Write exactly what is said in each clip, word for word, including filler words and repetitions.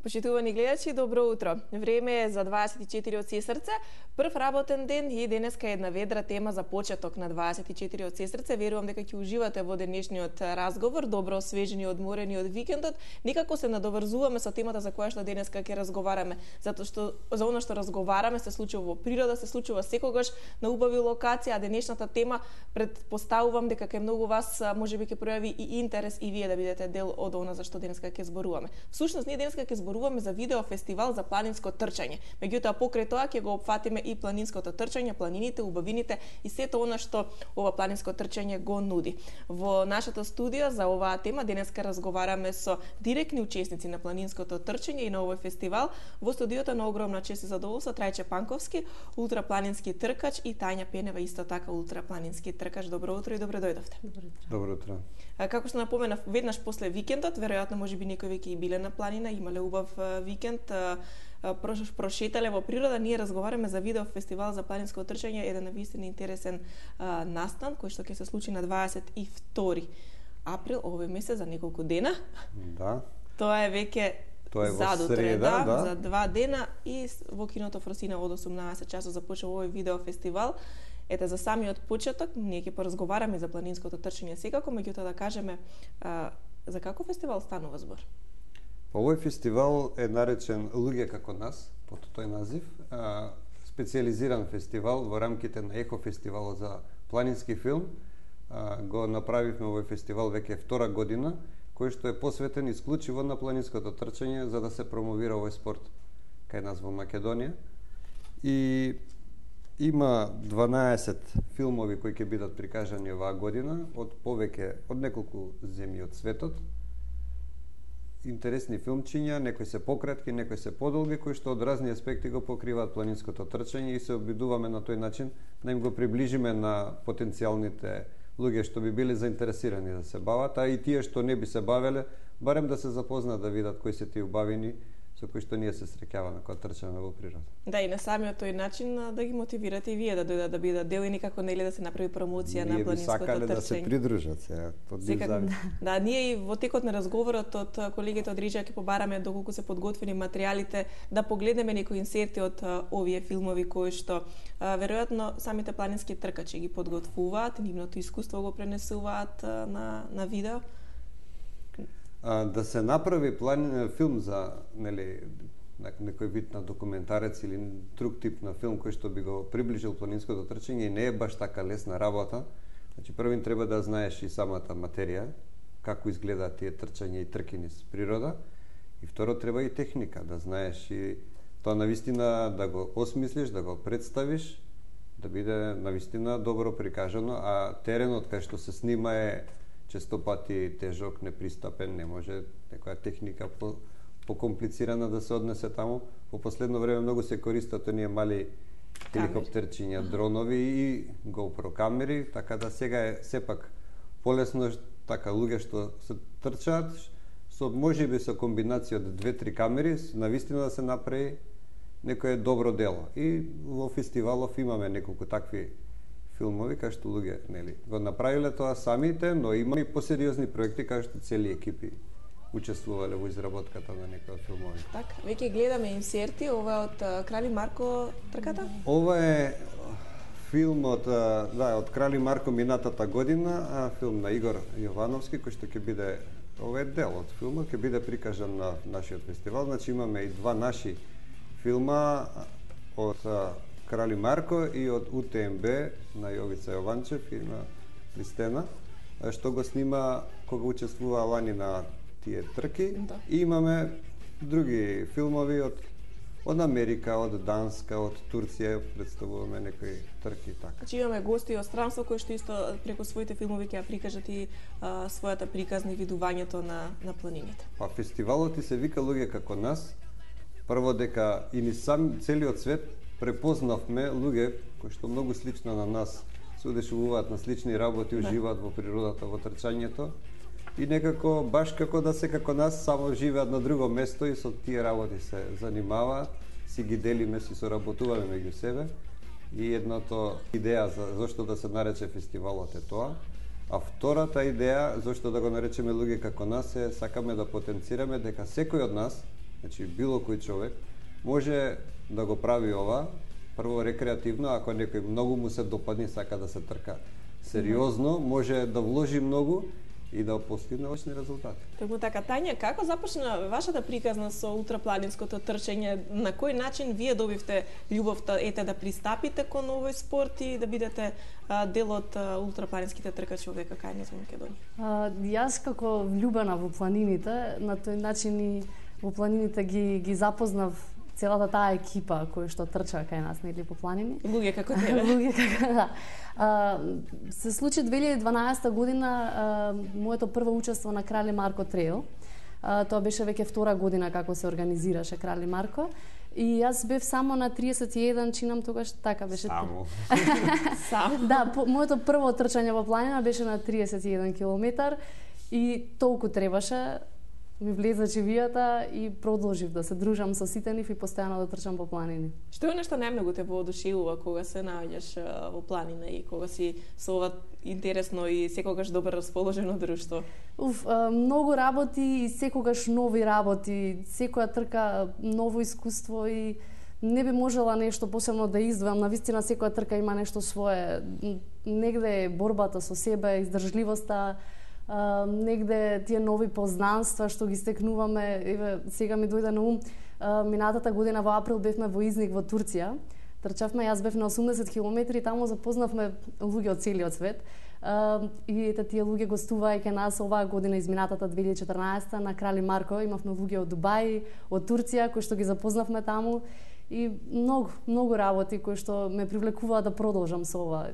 Почитувани гледачи, добро утро. Време е за дваесет и четири од Сесрце, прв работен ден и денеска е една ведра тема за почеток на дваесет и четири од Сесрце. Верувам дека ќе уживате во денешниот разговор, добро освежени, одморени од викендот. Некако се надоврзуваме со темата за која што денеска ќе разговараме, затоа што за она што разговараме се случува во природа, се случува секогаш на убави локации, а денешната тема претпоставувам дека кај многу вас можеби ќе пројави и интерес и вие да бидете дел од она за што денеска ќе зборуваме. Всушност ние денеска ќе зборуваме за видео фестивал за планинско трчање. Меѓутоа покрај тоа ќе го опфатиме и планинското трчање, планините, убавините и сето она што ова планинско трчање го нуди. Во нашето студио за оваа тема денеска разговараме со директни учесници на планинското трчање и на овој фестивал. Во студиото на огромна чест и задоволство Трајче Панковски, ултрапланински тркач, и Тања Пенева, исто така ултрапланински тркач. Добро утро и добро дојдовте. Добро утро. Добро утро. Како што напоменав, веднаш после викендот, веројатно можеби некои веќе и биле на планина, имале убав викенд, прошетале во природа. Ние разговараме за видео фестивал за планинско трчање, еден навистина интересен а, настан кој што ќе се случи на дваесет и втори април овој месец, за неколку дена. Да. Тоа е веќе Тоа е во задутре, среда, да, да. за два дена, и во киното Фросина од осумнаесет часот започува овој видео фестивал. Ете, за самиот почеток, ние ќе поразговараме за планинското трчање секако, меѓутоа да кажеме а, за каков фестивал станува збор? Овој фестивал е наречен Луѓе како нас, по тој назив, а, специализиран фестивал во рамките на Ехо фестивалот за планински филм. А, го направивме овој фестивал веќе втора година, кој што е посветен исклучиво на планинското трчање за да се промовира овој спорт кај нас во Македонија. И има дванаесет филмови кои ќе бидат прикажани оваа година од повеќе од неколку земји од светот. Интересни филмчиња, некои се пократки, некои се подолги, кои што од разни аспекти го покриваат планинското трчање и се обидуваме на тој начин да им го приближиме на потенцијалните луѓе што би биле заинтересирани да се бават, а и тие што не би се бавеле, барем да се запознаат, да видат кои се тие убавини со кои што ние се среќаваме кога трчаме во природа. Да, и на самиот тој начин да ги мотивирате и вие да дојдат да бидат дел и никако нели да се направи промоција ние на планинското трчање. Ние би сакале да се придружат сега, од нив зависи. Да, ние и во текот на разговорот од колегите од Риџа ќе побараме доколку се подготвени материјалите, да погледнеме некои инсерти од овие филмови кои што а, веројатно самите планински тркачи ги подготвуваат, нивното искуство го пренесуваат а, на на видео. А, да се направи план филм за нели некој вид на документарец или друг тип на филм кој што би го приближил планинското трчање, не е баш така лесна работа. Значи првин треба да знаеш и самата материја, како изгледаат тие трчања и трки низ природа, и второ треба и техника, да знаеш и тоа навистина да го осмислиш, да го представиш, да биде навистина добро прикажано, а теренот кај што се снима е често пати тежок, непристапен, не може некоја техника по покомплицирана да се однесе таму. Во последно време многу се користат оние мали хеликоптерчиња, дронови и GoPro камери, така да сега е сепак полесно така луѓе што се трчаат со можеби со комбинација од две-три камери, навистина да се направи некое добро дело. И во фестивалов имаме неколку такви филмови кај што луѓе нели го направиле тоа самите, но има и посериозни проекти кај што цели екипи учествувале во изработката на некои од филмови. Така, веќе гледаме инсерти, ова е од Крали Марко трката? Ова е филм од да, од Крали Марко минатата година, филм на Игор Јовановски кој што ќе биде, ова е дел од филмот, ќе биде прикажан на нашиот фестивал. Значи имаме и два наши филма од Крали Марко и од У Те Ем Бе на Јовица Јованчев и на Кристена, што го снима кога учествува лани на тие трки. Да. И имаме други филмови од од Америка, од Данска, од Турција, представуваме некои трки така. Значи имаме гости од странство кои што исто преку своите филмови ќе ја прикажат и а, својата приказна и видувањето на на планините. Па фестивалот и се вика Луѓе како нас. Прво дека и ни сам целиот свет препознавме луѓе кои што многу слично на нас се удешевуваат на слични работи, уживаат во природата, во трчањето и некако баш како да се како нас, само живеат на друго место и со тие работи се занимаваат, си ги делиме, си соработуваме меѓу себе. И едното идеја за зошто да се нарече фестивалот е тоа. А втората идеја зошто да го наречеме Луѓе како нас е сакаме да потенцираме дека секој од нас Значи, било кој човек може да го прави ова, прво рекреативно, ако некој многу му се допадне, сака да се трка сериозно, може да вложи многу и да постигне одлични резултати. Токму така, Тања, како започна вашата приказна со ултрапланинското трчање? На кој начин вие добивте љубовта ете да пристапите кон овој спорт и да бидете а, дел од а, ултрапланинските тркачи овде кај низ Македонија? А, јас како влюбена во планините, на тој начин и во планините ги ги запознав целата таа екипа која што трча кај нас, нели, по планини. Луѓе како тебе. Луѓе како, да. А, се случи две илјади и дванаесета година а, моето прво учество на Крали Марко трейл. А, тоа беше веќе втора година како се организираше Крали Марко. И јас бев само на триесет и еден, чинам тогаш, така беше. Само. Само. Да, по, моето прво трчање во планина беше на триесет и еден километар и толку требаше. Ми влезе живијата и продолжив да се дружам со сите нив и постојано да трчам по планини. Што е нешто најмногу те воодушевува кога се наоѓаш во планина и кога си со ова интересно и секогаш добро расположено друштво? Уф, многу работи и секогаш нови работи, секоја трка ново искуство и не би можела нешто посебно да издвојам. Навистина секоја трка има нешто свое. Негде е борбата со себе, издржливоста, Uh, негде тие нови познанства што ги стекнуваме. Еве, сега ми дојде на ум, uh, минатата година во април бевме во Изник во Турција. Трчавме, јас бев на осумдесет километри и таму запознавме луѓе од целиот свет. Uh, и ете тие луѓе гостуваа кај нас оваа година, изминатата две илјади и четрнаесета на Крали Марко. Имавме луѓе од Дубај, од Турција кои што ги запознавме таму и многу, многу работи кои што ме привлекуваат да продолжам со ова.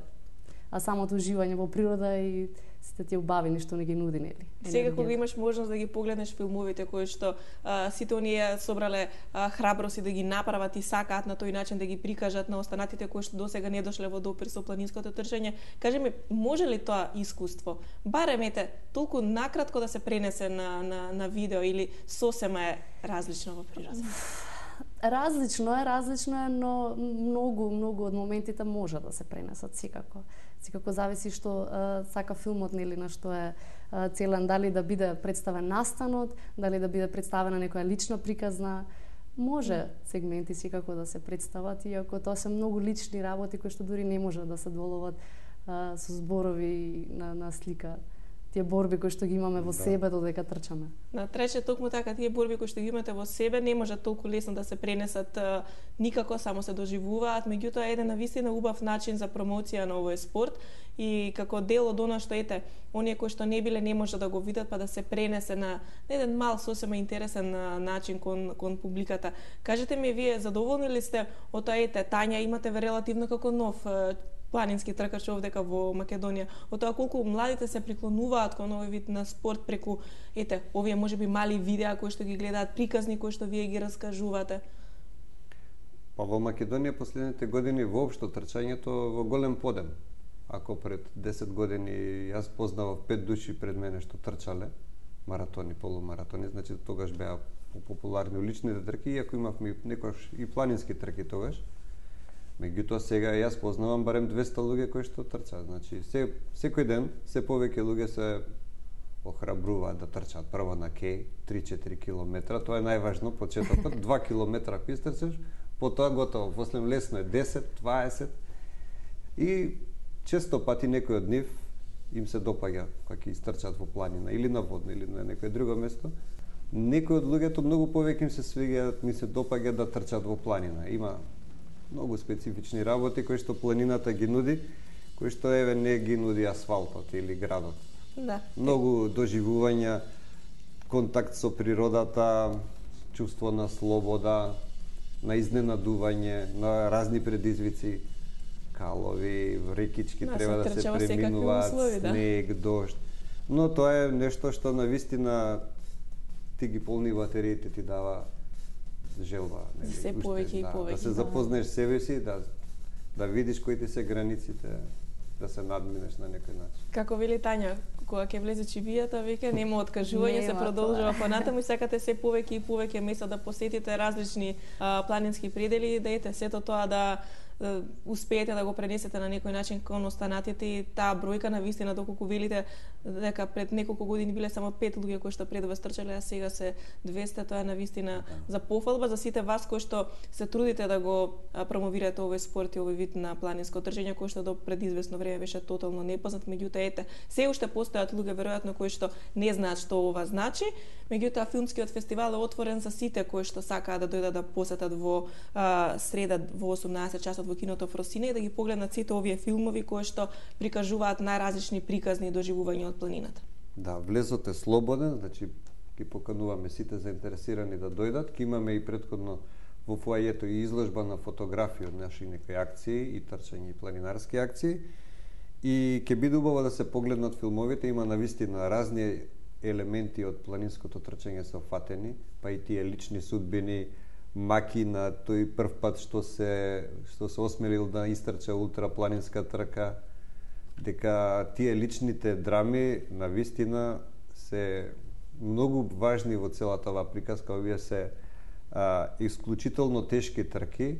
А самото уживање во природа и сите тие убавини што не ги нуди, нели? Сега кога имаш можност да ги погледнеш филмовите кои што а, сите оние собрале а, храброст и да ги направат и сакаат на тој начин да ги прикажат на останатите кои што досега не дошле во допир со планинското трчање, кажи ми, може ли тоа искуство, барем ете, толку накратко да се пренесе на, на, на видео или сосема е различно во природа? Различно е, различно е, но многу, многу од моментите може да се пренесат секако. Секако зависи што а, сака филмот, нели, на што е а, целен, дали да биде представен настанот, дали да биде представена некоја лична приказна. Може сегменти секако да се представат, иако тоа се многу лични работи кои што дури не може да се доловат а, со зборови на, на слика. Тие борби кои што ги имаме во да. себе додека трчаме. На трече токму така, тие борби кои што ги имате во себе не може толку лесно да се пренесат а, никако, само се доживуваат, меѓутоа е еден навистина убав начин за промоција на овој спорт и како дел од она што ете, оние кои што не биле не може да го видат, па да се пренесе на еден мал сосема интересен а, начин кон кон публиката. Кажете ми, вие задоволни ли сте од тоа, ете, Тања, имате ве релативно како нов а, планински тркач овдека во Македонија, од тоа колку младите се приклонуваат кон овој вид на спорт преку ете овие можеби мали видеа кои што ги гледаат, приказни кои што вие ги раскажувате? Па во Македонија последните години воопшто трчањето во голем подем. Ако пред десет години јас познавав пет души пред мене што трчале маратони, полумаратони, значи тогаш беа популарни уличните трки, иако имавме некош и планински трки тогаш. Меѓутоа сега јас познавам барем двесте луѓе кои што трчаат. Значи се, секој ден се повеќе луѓе се охрабруваат да трчаат прво на кеј три-четири километра, тоа е најважно, почетокот, два километра пистрчеш, потоа готово, после лесно е десет, дваесет и често пати некој од нив им се допаѓа кога ќе истрчаат во планина или на водно или на некое друго место. Некои од луѓето многу повеќе им се свиѓаат, ми се допаѓа да трчаат во планина. Има многу специфични работи кои што планината ги нуди, кои што еве не ги нуди асфалтот или градот. Да. Многу доживувања, контакт со природата, чувство на слобода, на изненадување, на разни предизвици, калови, рекички да, треба да се преминуваат, услови, да. Снег, дожд. Но тоа е нешто што навистина ти ги полни батериите, ти дава желба, нели, се повеќе и да, повеќе. Да се запознаеш себе си, да да видиш кои ти се границите, да се надминеш на некој начин. Како вели Тања, кога ќе влезе чивијата, веќе нема откажување, се продолжува понатаму и сакате се повеќе и повеќе места да посетите различни а, планински предели и да ете сето тоа да успеете да го пренесете на некој начин кон останатите и таа бројка на вистина доколку велите дека пред неколку години биле само пет луѓе кои што пред вас трчале, а сега се двесте, тоа е на вистина за пофалба за сите вас кои што се трудите да го промовирате овој спорт и овој вид на планинско трчање кој што до пред известно време беше тотално непознат, меѓутоа ете, се уште постојат луѓе веројатно кои што не знаат што ова значи, меѓутоа филмскиот фестивал е отворен за сите кои што сакаат да дојдат да посетат во а, среда во осумнаесет часот во киното Фросина и да ги погледнат сите овие филмови кои што прикажуваат најразлични приказни доживувања од планината. Да, влезот е слободен, значи ги покануваме сите заинтересирани да дојдат. Ке имаме и претходно во фоајето и изложба на фотографии од наши некои акции и трчање и планинарски акции. И ќе биде убаво да се погледнат филмовите, има навистина разни елементи од планинското трчање се офатени, па и тие лични судбини, маки на тој прв пат што се што се осмелил да истрча ултрапланинска трка, дека тие личните драми навистина се многу важни во целата оваа приказка. Овие се а, исклучително тешки трки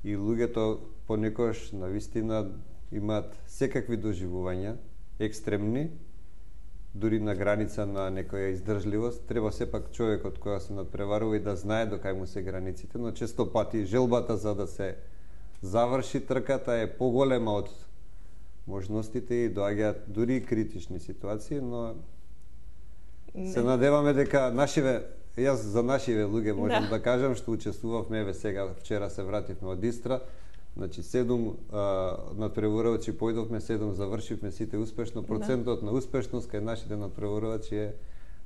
и луѓето понекогаш навистина имаат секакви доживувања, екстремни, дури на граница на некоја издржливост. Треба сепак човекот која се надпреварува и да знае до кај му се границите, но често пати желбата за да се заврши трката е поголема од можностите и доаѓаат дури и критични ситуации, но не. Се надеваме дека нашиве, јас за нашиве луѓе можам да, да кажам што учествувавме, еве сега вчера се вративме од Истра. Значи седум надпреварувачи појдовме, седум завршивме сите успешно. Процентот да. на успешност кај нашите надпреварувачи е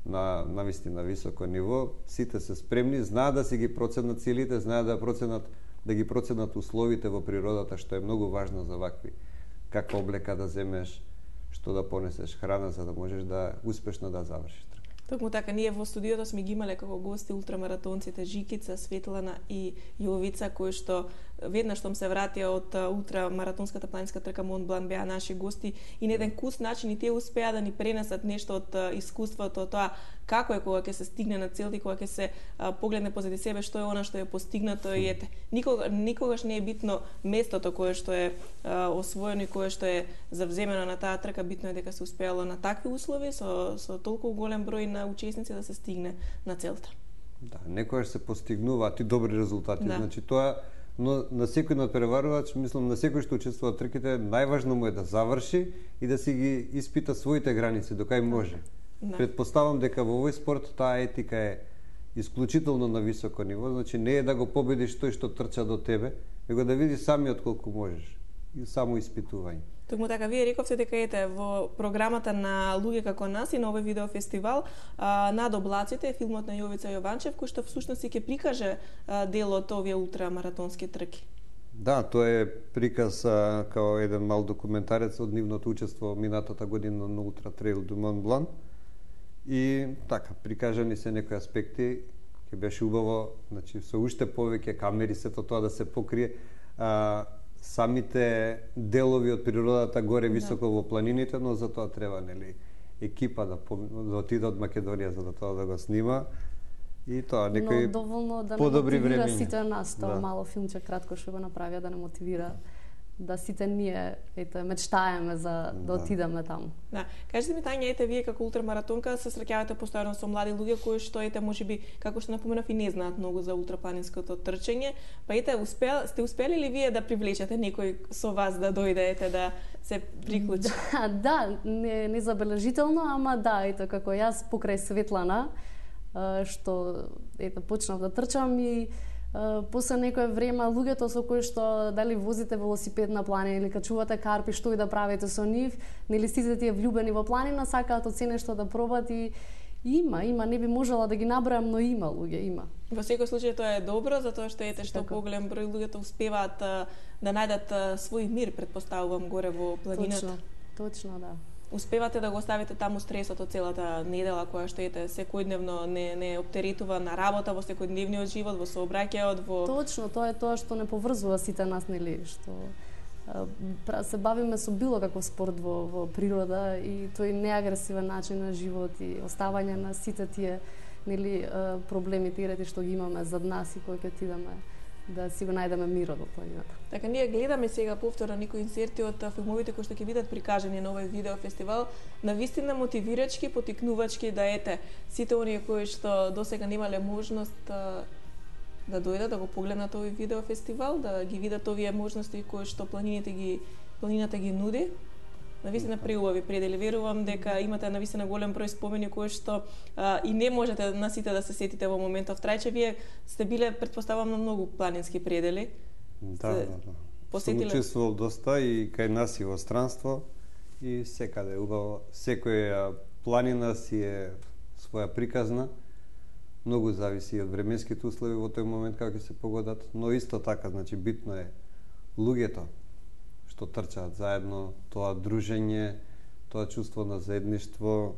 на навистина високо ниво. Сите се спремни, знаат да си ги проценат целите, знаат да проценат да ги проценат условите во природата, што е многу важно за вакви. Каква облека да земеш, што да понесеш, храна за да можеш да успешно да завршиш. Токму така, ние во студиото сме ги имале како гости ултрамаратонците Жикица, Светлана и Јовица, кои што веднаш што се вратија од ултрамаратонската планинска трка Монт Блан беа наши гости и на еден куст начин и тие успеа да ни пренесат нешто од искуството, тоа како е кога ќе се стигне на целта и кога ќе се а, погледне позади себе што е она што е постигнато и ете, никога, никогаш не е битно местото кое што е а, освоено и кое што е завземено на таа трка, битно е дека се успеало на такви услови со, со толку голем број на учесници да се стигне на целта. Да, некојаш се постигнуваат и добри резултати, да. Значи тоа, но на секој надпреварувач, мислам на секој што учествува во трките, најважно му е да заврши и да си ги испита своите граници до кај може. Да. Предпоставам дека во овој спорт таа етика е исклучително на високо ниво, значи не е да го победиш тој што трча до тебе, него да видиш самиот колку можеш. И само испитување. Токму така, вие рековте дека ете во програмата на луѓе како нас и на овој видеофестивал а, над облаците е филмот на Јовица Јованчев, кој што всушност и ќе прикаже а, дел од овие ултрамаратонски трки. Да, тоа е приказ а, као еден мал документарец од нивното учество минатата година на Ултра Трейл до Монт Блан. И така, прикажани се некои аспекти, ќе беше убаво, значи со уште повеќе камери сето тоа да се покрие. А, самите делови од природата горе високо да. во планините, но за тоа треба нели екипа да, да отиде од Македонија за да тоа да го снима. И тоа некои доволно да подобри времиња. Сите нас тоа да. мало филмче кратко што го направија да не мотивира да сите ние ете мечтаеме за да, да отидеме таму. Да, кажете ми Тања, ете вие како ултрамаратонка се среќавате постојано со млади луѓе кои што ете можеби како што напоменав и не знаат многу за ултрапланинското трчање, па ете успел сте успели ли вие да привлечете некој со вас да дојде ете да се приклучи? Да, да, не незабележително, ама да, ете како јас покрај Светлана што ете почнав да трчам и Uh, после некое време луѓето со кои што дали возите велосипед на планина или качувате карпи, што и да правите со нив, нели сите тие влюбени во планина сакаат од се нешто да пробат и има, има, не би можела да ги набројам, но има луѓе, има. Во секој случај тоа е добро, затоа што ете што поголем број луѓето успеваат uh, да најдат uh, свој мир, предпоставувам, горе во планината. Точно, точно, да. Успевате да го оставите таму стресот од целата недела која што ете секојдневно не не оптеретува на работа, во секојдневниот живот, во сообраќајот, во Точно, тоа е тоа што не поврзува сите нас, нели, што а, се бавиме со било каков спорт во, во природа и тој неагресивен начин на живот и оставање на сите тие нели проблемите и рети што ги имаме зад нас и кои ќе отидеме да си го најдеме мирот во планината. Така, ние гледаме сега повторно некои инсерти од филмовите кои што ќе бидат прикажани на овој видеофестивал, навистина мотивирачки, потикнувачки, да ете сите оние кои што досега немале можност а, да дојдат да го погледнат овој видеофестивал, да ги видат овие можности кои што планините ги планината ги нуди. Навистина преубави предели. Верувам дека имате навистина голем број спомени кои што а, и не можете на сите да се сетите во моментов трајче. Вие сте биле, претпоставам, на многу планински предели. Да, да, да. Посетиле... Сум учествувал доста и кај нас и во странство и секаде убаво. Секоја планина си е своја приказна. Многу зависи од временските услови во тој момент како ќе се погодат, но исто така, значи битно е луѓето што трчаат заедно, тоа дружење, тоа чувство на заедништво.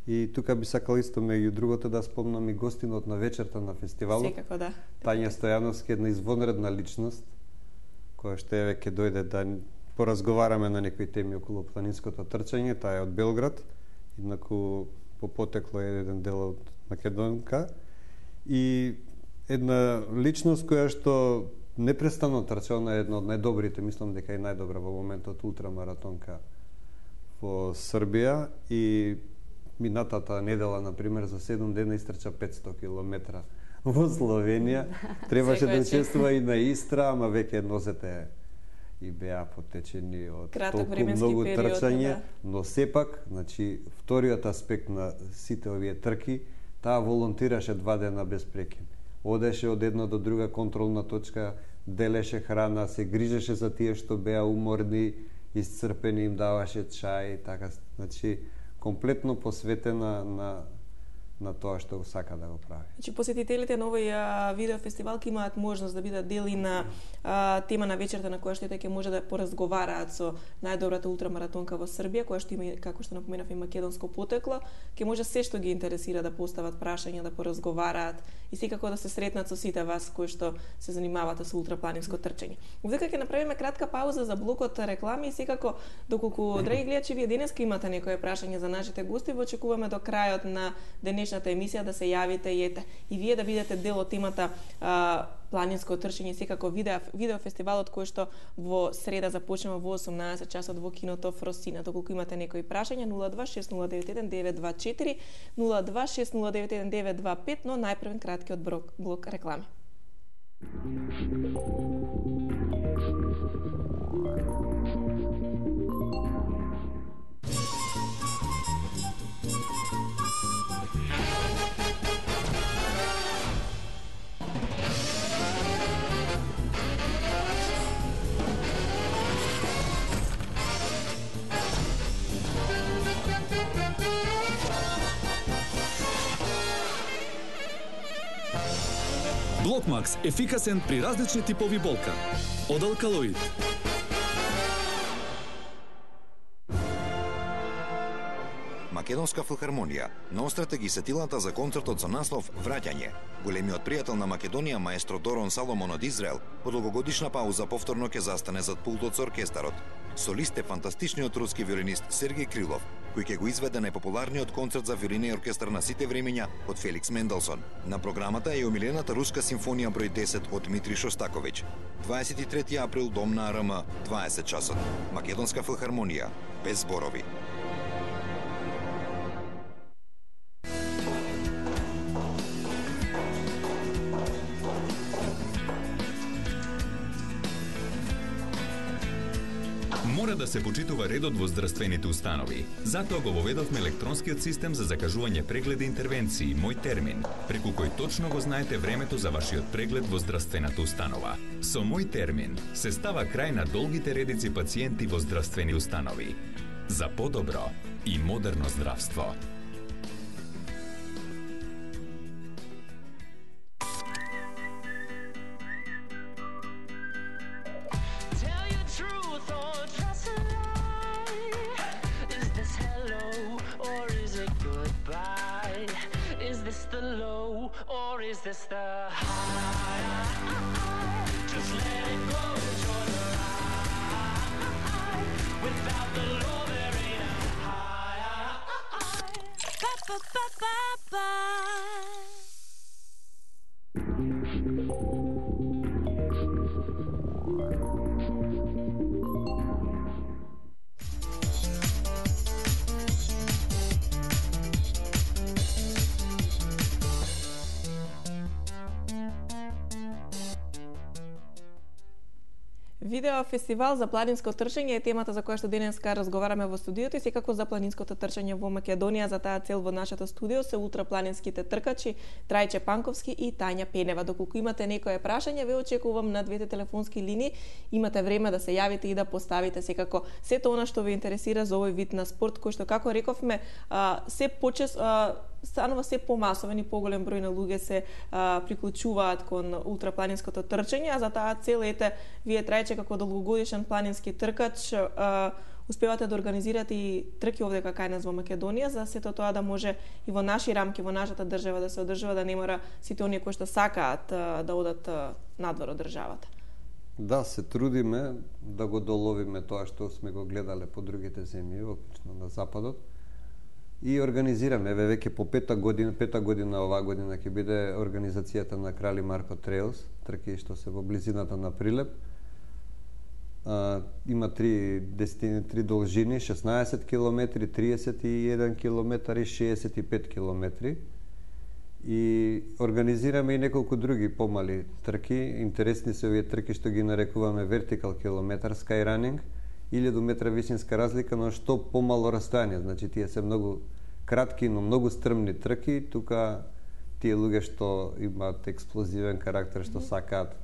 И тука би сакал исто меѓу другото да спомнам и гостинот на вечерта на фестивалот. Секако да. Тања Стојановски, една извонредна личност, која што еве ќе дојде да поразговараме на некои теми околу планинското трчање. Таа е од Белград, еднаку по потекло е еден дел од Македонка. И една личност која што непрестанно трча, она е една од најдобрите, мислам дека е најдобра во моментот ултрамаратонка во Србија и минатата недела, например, за седум дена истрча петсто километра во Словенија. Требаше да учествува и на Истра, ама веќе нозете и беа потечени од толку многу трчање, да. Но сепак, значи, вториот аспект на сите овие трки, таа волонтираше два дена без прекин. Одеше од една до друга контролна точка, делеше храна, се грижеше за тие што беа уморни, исцрпени, им даваше чај, така, значи, комплетно посветена на на тоа што го сака да го прави. Значи, посетителите на овој а, видеофестивал ќе имаат можност да бидат дел и на а, тема на вечерта на која што ќе може да поразговараат со најдобрата ултрамаратонка во Србија, која што има, како што напоменав, и македонско потекло, ќе може се што ги интересира да постават прашања, да поразговараат и секако да се сретнат со сите вас кои што се занимавате со ултрапланинско трчање. Овдека ќе направиме кратка пауза за блокот реклами и секако, доколку, драги гледачи, вие денеска имате некое прашање за нашите гости, во очекуваме до крајот на денешната емисија да се јавите и ете и вие да бидете дел од темата а, планинско трчање, секако видео видеофестивалот кој што во среда започнува во осумнаесет часот во киното Фросина. Доколку имате некои прашања, нула два шест нула девет еден девет два четири, нула два шест нула девет еден девет два пет, но најпрвен краткиот блок, блок реклами. Блокмакс – ефикасен при различни типови болка. Од Алкалоид. Македонска филхармонија наострете ги сетилата за концертот со наслов Враќање. Големиот пријател на Македонија, маестро Дорон Саломон од Израел, по долгогодишна пауза повторно ќе застане зад пултот со оркестарот. Солист е фантастичниот руски виолинист Сергеј Крилов, кој ќе го изведе најпопуларниот концерт за виолина и оркестар на сите времења од Феликс Менделсон. На програмата е омилената руска симфонија број десет од Дмитрий Шостаковиќ. дваесет и трети април, дом на АРМ, дваесет часот. Македонска филхармонија, без зборови. Мора да се почитува редот во здравствените установи. Затоа го воведовме електронскиот систем за закажување прегледи и интервенции Мој термин, преку кој точно го знаете времето за вашиот преглед во здравствената установа. Со Мој термин се става крај на долгите редици пациенти во здравствени установи. За подобро и модерно здравство. Is this the high? Just let it go, enjoy the ride. Without the low, there ain't a high. Ba ba ba ba ba. Видео фестивал за планинско трчање е темата за која што денеска разговараме во студиото и секако за планинското трчање во Македонија. За таа цел во нашето студио се ултрапланинските тркачи Трајче Панковски и Тања Пенева. Доколку имате некое прашање, ве очекувам на двете телефонски линии. Имате време да се јавите и да поставите секако сето она што ве интересира за овој вид на спорт, кој што, како рековме, се почес станува се помасовен и поголем број на луѓе се а, приклучуваат кон ултрапланинското трчање, а за таа цел ете вие Трајче како долгогодишен планински тркач а, успевате да организирате и трки овде кај нас во Македонија, за сето тоа да може и во наши рамки, во нашата држава да се одржува, да не мора сите оние кои што сакаат а, да одат а, надвор од државата. Да, се трудиме да го доловиме тоа што сме го гледале по другите земји, оклучно на западот. И организираме, еве веќе по пета година, пета година оваа година ќе биде организацијата на Крали Марко Трейлс, трки што се во близината на Прилеп. А, има три дестини, три должини, шеснаесет километри, триесет и еден километар и шеесет и пет километри. И организираме и неколку други помали трки. Интересни се овие трки што ги нарекуваме вертикал километар, скайранинг, илјаду метра висинска разлика, но што помало растојание. Значи, тие се многу кратки, но многу стрмни трки. Тука тие луѓе што имаат експлозивен карактер, што сакаат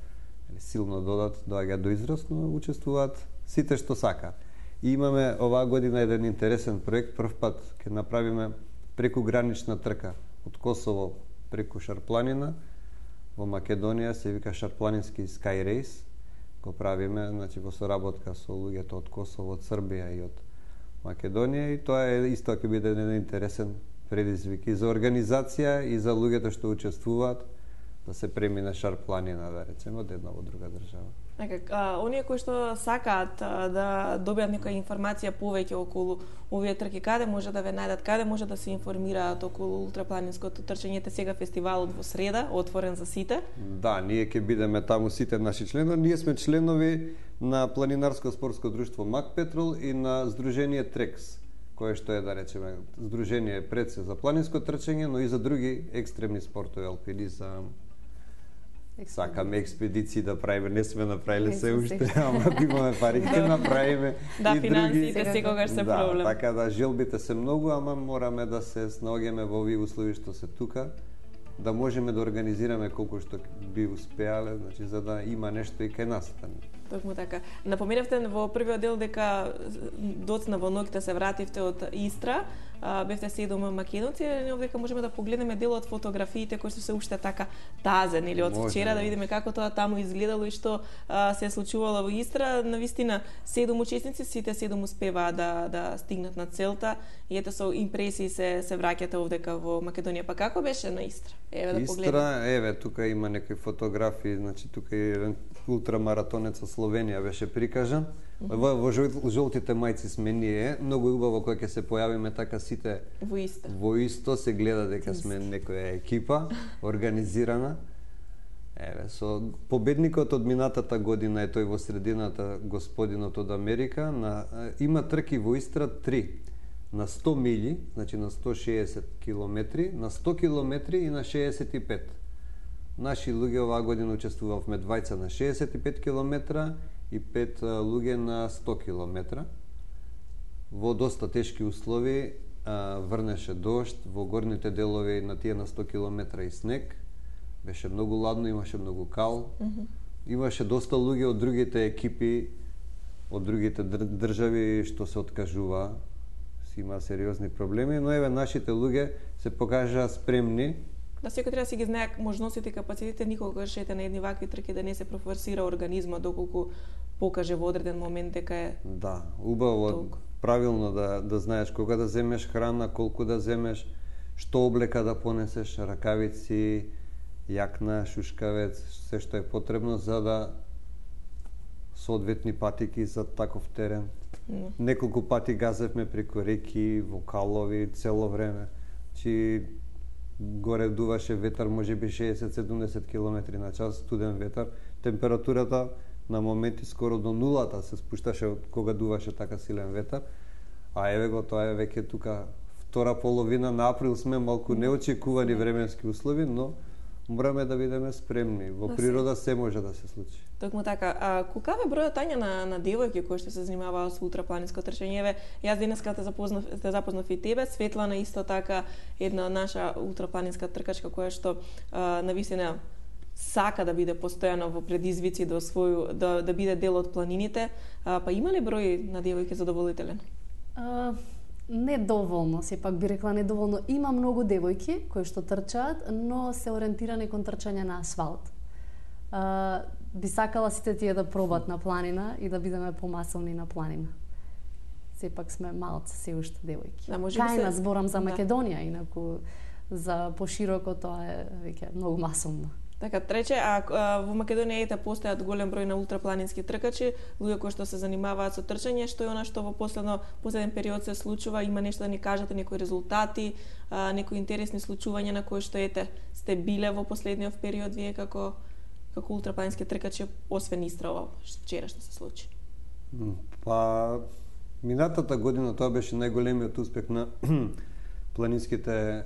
силно додат, доаѓаат до израз, но учествуваат сите што сакаат. И имаме оваа година еден интересен проект. Прв пат ќе направиме прекугранична трка од Косово преку Шарпланина во Македонија, се вика Шарпланински Sky Race. Го правиме, значи, во соработка со луѓето од Косово, од Србија и од Македонија, и тоа е исто ќе биде еден интересен предизвик и за организација и за луѓето што учествуваат да се премине Шарпланина, да речеме, од една во друга држава. Нека, оние кои што сакаат а, да добијат некоја информација повеќе околу овие трки, каде може да ве најдат, каде може да се информираат околу ултрапланинското трчање? Сега фестивалот во среда, отворен за сите. Да, ние ќе бидеме таму сите наши членови. Ние сме членови на Планинарско спортско друштво Мак Петрол и на Сдружение Трекс, кое што е, да речеме, здружение пред се за планинско трчање, но и за други екстремни спортови, алпинизам. Сакаме експедиции да правиме, не сме направиле се уште, ама ако имаме пари ќе направиме. Да, и финансиите други... секогаш се да, проблем. Така да, желбите се многу, ама мораме да се снаоѓаме во овие услови што се тука, да можеме да организираме колку што би успеале, значи за да има нешто и кај нас. Токму така. Напоменавте во првиот дел дека доцна во ноќта се вративте од Истра, а, бевте седум македонци, и овдека можеме да погледнеме дел од фотографиите кои што се уште така тазен или од вчера, да видиме како тоа таму изгледало и што а, се случувало во Истра. Навистина седум учесници, сите седум успеваа да да стигнат на целта и ете со импресии се се враќате овдека во Македонија. Па како беше на Истра? Еве да погледнеме. Истра, еве тука има некои фотографии, значи тука е еден ултрамаратонец од Словенија беше прикажан. Во, во жолтите мајци сме ние. Многу убаво кога ќе се појавиме така сите во исто. Во исто се гледа дека сме некоја екипа организирана. Еве, со победникот од минатата година е тој во средината, господинот од Америка, на има трки во Истра три. На сто милји, значи на сто шеесет километри, на сто километри и на шеесет и пет. Наши луѓе оваа година учествувавме двајца на шеесет и пет километра и пет луѓе на сто километра. Во доста тешки услови, врнеше дожд, во горните делови на тие на сто километра и снег. Беше многу ладно, имаше многу кал. Mm-hmm. Имаше доста луѓе од другите екипи, од другите држави што се откажува. Има сериозни проблеми, но еве нашите луѓе се покажаа спремни. Да, секој треба да си ги знае можностите и капацитетите, никогаш ете на едни вакви трки да не се профорсира организмот доколку покаже во одреден момент дека е. Да, убаво, толку. Правилно да да знаеш кога да земеш храна, колку да земеш, што облека да понесеш, ракавици, јакна, шушкавец, се што е потребно за да соодветни патики за таков терен. Mm. Неколку пати газевме преку реки, во калови, цело време. Чи горе дуваше ветар, можеби шеесет до седумдесет километри на час, студен ветар. Температурата на моменти скоро до нулата се спушташе кога дуваше така силен ветар. А еве го, тоа е веќе тука втора половина на април, сме малку неочекувани временски услови, но мораме да бидеме спремни. Во природа се може да се случи. Токму така. А колкав е бројот Тања на на девојки кои што се занимаваат со ултрапланинско трчање? Еве, јас денеска те запознав, те запознав и тебе, Светлана исто така, една наша ултрапланинска тркачка која што а, навистина сака да биде постојано во предизвици да освоју да да биде дел од планините. А, па има ли број на девојки задоволителен? А, недоволно, сепак би рекла недоволно. Има многу девојки кои што трчаат, но се ориентирани кон трчање на асфалт. А, би сакала сите тие да пробат на планина и да бидеме помасовни на планина. Сепак сме малце се уште девојки. Да, може би Кај се- нас зборам за да. Македонија, инаку за пошироко тоа е веќе многу масовно. Така, трече, а, а во Македонија ете постојат голем број на ултрапланински тркачи, луѓе кои што се занимаваат со трчање, што е она што во последно последен период се случува, има нешто да ни кажете, некои резултати, а, некои интересни случувања на кои што ете сте биле во последниот период вие како како ултрапланински тркачи, освен Истра ова вчера што се случи. М, Па, минатата година тоа беше најголемиот успех на планинските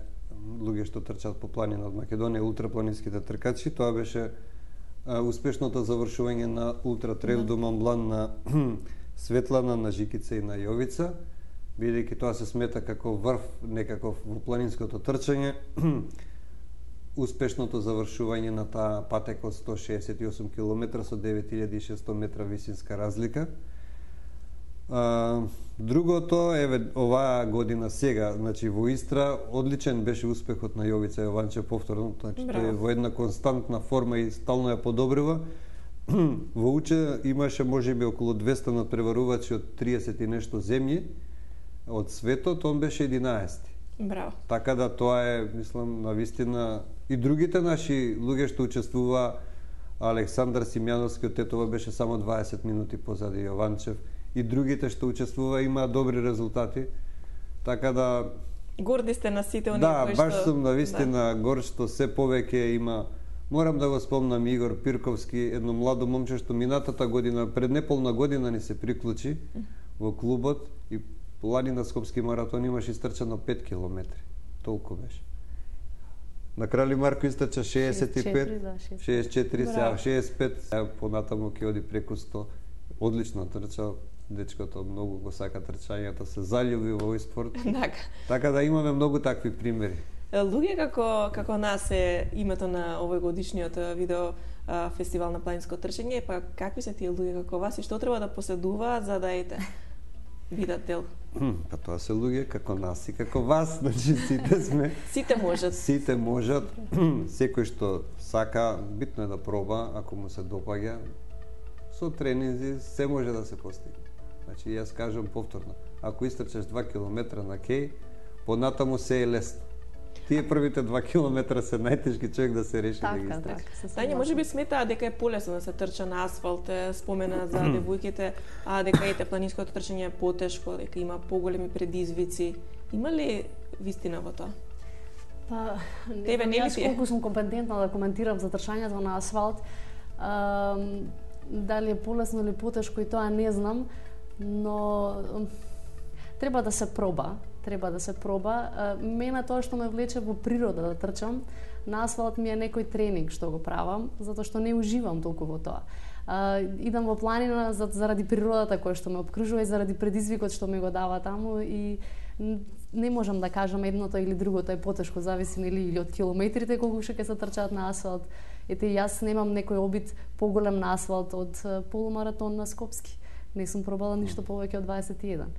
луѓе што трчаат по планина од Македонија, ултрапланинските тркачи. Тоа беше а, успешното завршување на Ултра Трейл до Монблан на Светлана, на Жикица и на Јовица, бидејќи тоа се смета како врв некаков во планинското трчање. Успешното завршување на таа патека од сто шеесет и осум километра со девет илјади и шестстотини метра висинска разлика. А, другото, еве, оваа година сега, значи во Истра, одличен беше успехот на Јовица Јованче повторно, значи тој е во една константна форма и стално ја подобрува. Во Уче имаше можеби околу двесте надпреварувачи од триесет и нешто земји од светот, он беше единаесети. Браво. Така да тоа е, мислам, навистина и другите наши луѓе што учествува, Александар Симјановски од Тетова беше само дваесет минути позади Јованчев, и другите што учествува имаат добри резултати. Така да Горди сте на сите оние да, кои баш што сум навистина да. Гор што се повеќе има. Морам да го спомнам Игор Пирковски, едно младо момче што минатата година, пред неполна година ни се приклучи во клубот и планина Скопски маратон имаше истрчано пет километри. Толку беше. На Крали Марко истрча шеесет и пет, шеесет и четири, да, шеесет и пет. шеесет и четири, сега Браво. шеесет и пет, сега понатаму ќе оди преку сто. Одлично трча, дечкото многу го сака трчањето, се заљуби во овој спорт. Така. Така да имаме многу такви примери. Луѓе како како нас е името на овој годишниот а, видео а, фестивал на планинско трчање, па какви се тие луѓе како вас и што треба да поседуваат за да ете бидат дел? Па тоа се луѓе како нас и како вас, значи сите сме. Сите можат. Сите можат, секој што сака, битно е да проба, ако му се допаѓа, со тренинзи се може да се постигне. Значи, јас кажам повторно, ако истрчаш два километра на кеј, понатаму се е лесно. Тие првите два километра се најтешки човек да се реши да ги Така, истрчи. така. се Тања, може би сметаа дека е полесно да се трча на асфалт, е, спомена за девојките, а дека ете планинското трчање е потешко, дека има поголеми предизвици. Има ли вистина во тоа? Па, не Тебе знам не ли јас ти е? колку сум компетентна да коментирам за трчањето на асфалт. А, дали е полесно или потешко и тоа не знам, но м, треба да се проба. Треба да се проба. А, мене тоа што ме влече во природа да трчам, на асфалт ми е некој тренинг што го правам, затоа што не уживам толку во тоа. А, идам во планина за- заради природата која што ме обкружува и заради предизвикот што ми го дава таму и н- не можам да кажам едното или другото е потешко, зависи нели или од километрите колку што ќе се трчаат на асфалт. Ете, јас немам некој обид поголем на асфалт од е, полумаратон на Скопски. Не сум пробала ништо повеќе од дваесет и еден.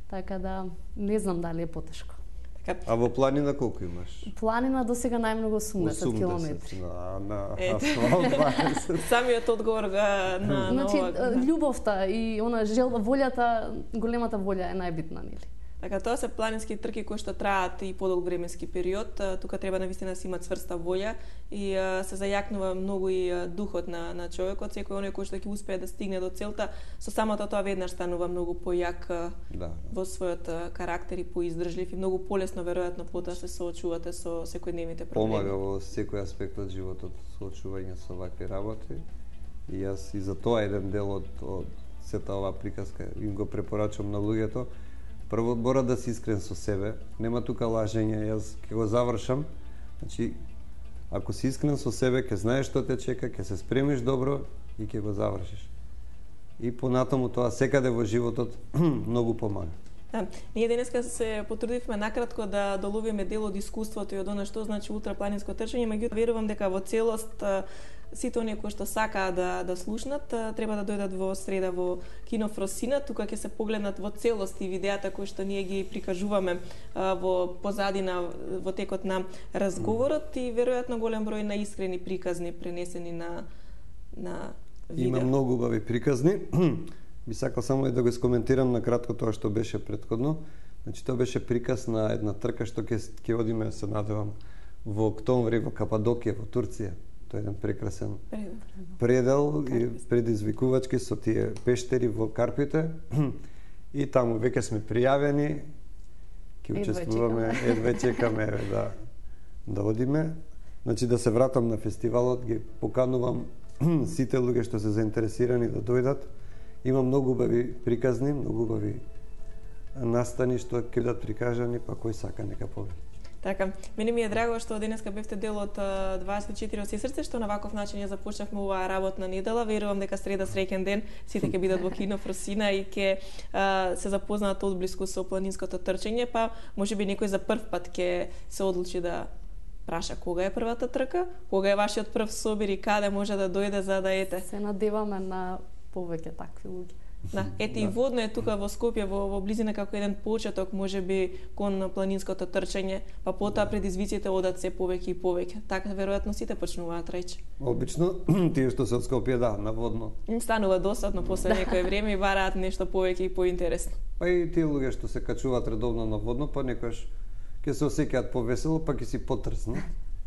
Така да не знам дали е потешко. Така, А во планина колку имаш? Планина до сега најмногу осумдесет километри. На, на Ете. асфалт дваесет. самиот одговор га, на, Значи, на ова. е, љубовта и она желба, волјата, големата волја е најбитна, нели? Така, тоа се планински трки кои што траат и подолг временски период. А, Тука треба навистина да се има цврста волја и а, се зајакнува многу и а, духот на, на човекот. Секој оној кој што ќе успее да стигне до целта, со самото тоа веднаш станува многу појак а, Да. во својот а, карактер и поиздржлив и многу полесно веројатно потоа се соочувате со секојдневните проблеми. Помага во секој аспект од животот соочување со вакви работи. И јас и за тоа еден дел од, од сета оваа приказка им го препорачувам на луѓето. Прво мора да си искрен со себе, нема тука лажење, јас ќе го завршам. Значи, ако си искрен со себе, ќе знаеш што те чека, ќе се спремиш добро и ќе го завршиш. И понатаму тоа секаде во животот многу помага. Да, ние денеска се потрудивме накратко да доловиме дел од искуството и од она што значи ултрапланинско трчање, меѓутоа верувам дека во целост сите оние кои што сакаат да да слушнат треба да дојдат во среда во Кино Фросина, тука ќе се погледнат во целост и видеата кои што ние ги прикажуваме во позадина во текот на разговорот и веројатно голем број на искрени приказни пренесени на на видео. Има многу убави приказни. Би сакал само и да го искоментирам на кратко тоа што беше претходно. Значи тоа беше приказ на една трка што ќе ќе одиме, се надевам, во октомври во Кападокија во Турција. Тоа е еден прекрасен предел и предизвикувачки со тие пештери во Карпите. И таму веќе сме пријавени, ќе учествуваме, едве чекаме еве да да одиме. Значи да се вратам на фестивалот, ги поканувам сите луѓе што се заинтересирани да дојдат. Има многу убави приказни, многу убави настани што ќе бидат прикажани, па кој сака нека повеќе. Така, мене ми е драго што денеска бевте дел од дваесет и четири од Се срце, што на ваков начин ја започнавме оваа работна недела. Верувам дека среда среќен ден сите ќе бидат во Кино Фросина и ќе се запознаат одблиску со планинското трчање, па можеби некој за прв пат ќе се одлучи да праша кога е првата трка, кога е вашиот прв собир и каде може да дојде за да ете. Се надеваме на повеќе такви луѓе. Да, ете и водно е тука во Скопје, во, во близина како еден почеток, можеби кон планинското трчање, па потоа предизвиците одат се повеќе и повеќе. Така веројатно сите почнуваат рече. Обично тие што се од Скопје, да, на водно. Им станува досадно после некое време и бараат нешто повеќе и поинтересно. Па и тие луѓе што се качуваат редовно на водно, па некојаш ќе се осеќаат повесело, па ќе си потрснат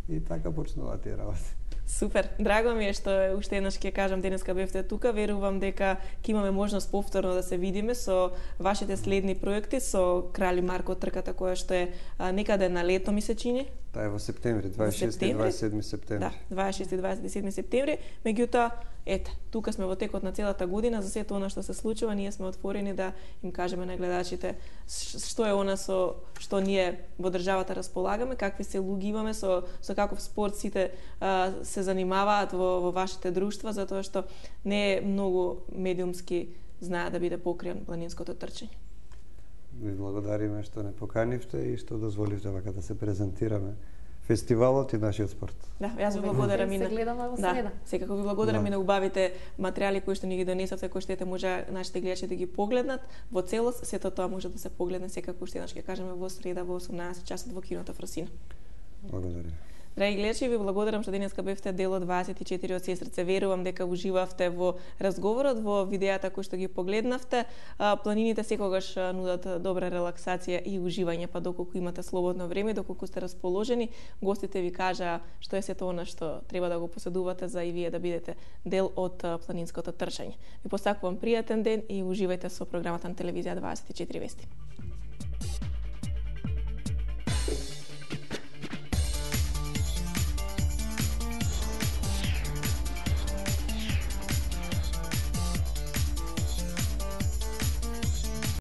и така почнуваат тие работи. Супер, драго ми е што уште еднаш ќе кажам денеска бевте тука. Верувам дека ќе имаме можност повторно да се видиме со вашите следни проекти, со Крали Марко трката која што е а, некаде на лето ми се чини. Таа е во септември, дваесет и шести и дваесет и седми септември. Да, дваесет и шести и дваесет и седми септември. Меѓутоа, ете, тука сме во текот на целата година, за сето она што се случува, ние сме отворени да им кажеме на гледачите што е она со што ние во државата располагаме, какви се луѓе имаме, со со каков спорт сите а, се занимаваат во, во вашите друштва, затоа што не е многу медиумски знае да биде покриен планинското трчање. Ви благодариме што не поканивте и што дозволивте вака да се презентираме фестивалот и нашиот спорт. Да, јас ви благодарам и Се на гледаме во да, среда. секако ви благодарам Да. и на убавите материјали кои што ни ги донесовте, кои што ете може нашите гледачи да ги погледнат во целост. Сето тоа може да се погледне секако уште еднаш ќе кажеме во среда во осумнаесет часот во Киното Фросина. Благодарам. Драги гледачи, ви благодарам што денеска бевте дел од дваесет и четири од Се срце. Верувам дека уживавте во разговорот, во видеата кои што ги погледнавте. А, планините секогаш нудат добра релаксација и уживање, па доколку имате слободно време, доколку сте расположени, гостите ви кажа што е сето она што треба да го поседувате за и вие да бидете дел од планинското трчање. Ви посакувам пријатен ден и уживајте со програмата на телевизија дваесет и четири Вести.